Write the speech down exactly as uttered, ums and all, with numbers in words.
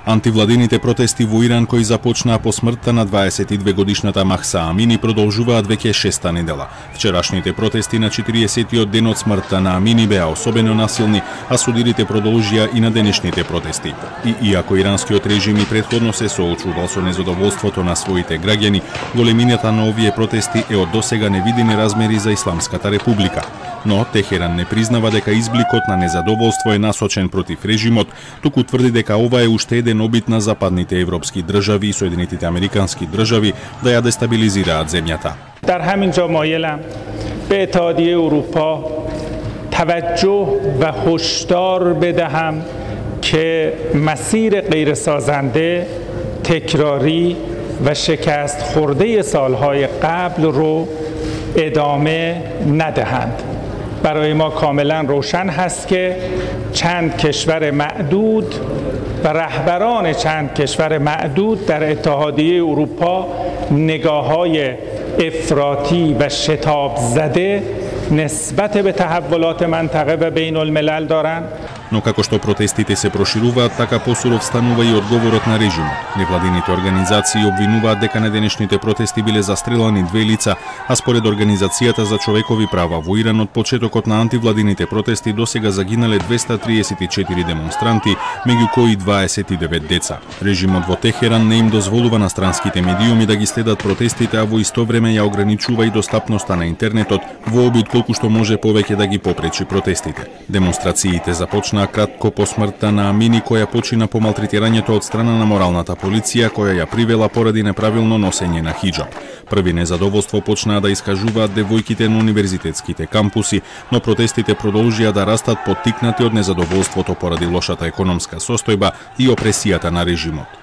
Антивладините протести во Иран кои започнаа по смртта на дваесет и две годишната Махса Амини продолжуваат веќе шеста недела. Вчерашните протести на четириесеттиот ден од смртта на Амини беа особено насилни, а судирите продолжија и на денешните протести. И иако иранскиот режим и претходно се соочувал со незадоволството на своите граѓани, големината на овие протести е од досега невидени размери за Исламската република. Но Техеран не признава дека избликот на незадоволство е насочен против режимот, туку тврди дека ова е уште еден обид на западните европски држави и Соединетите американски држави да ја дестабилизираат земјата. در همین جا مایلم به اتحادیه اروپا توجه و هشدار بدهم که مسیر غیرسازنده، تکراری و شکست خورده سالهای قبل رو ادامه ندهند. برای ما کاملا روشن هست که چند کشور معدود و رهبران چند کشور معدود در اتحادیه اروپا نگاه‌های افراطی و شتاب زده نسبت به تحولات منطقه و بین الملل دارند. Но како што протестите се прошируваат, така посуров станува и одговорот на режимот. Невладините организации обвинуваат дека на денешните протести биле застрелани две лица, а според Организацијата за човекови права во Иран од почетокот на антивладините протести досега загинале двеста триесет и четири демонстранти, меѓу кои дваесет и девет деца. Режимот во Техеран не им дозволува на странските медиуми да ги следат протестите, а во исто време ја ограничува и достапноста на интернетот во обид колку што може повеќе да ги попречи протестите. Демонстрациите започнаа кратко по смртта на Амини, која почина по малтретирањето од страна на моралната полиција, која ја привела поради неправилно носење на хиџаб. Први незадоволство почнаа да искажуваат девојките на универзитетските кампуси, но протестите продолжија да растат поттикнати од незадоволството поради лошата економска состојба и опресијата на режимот.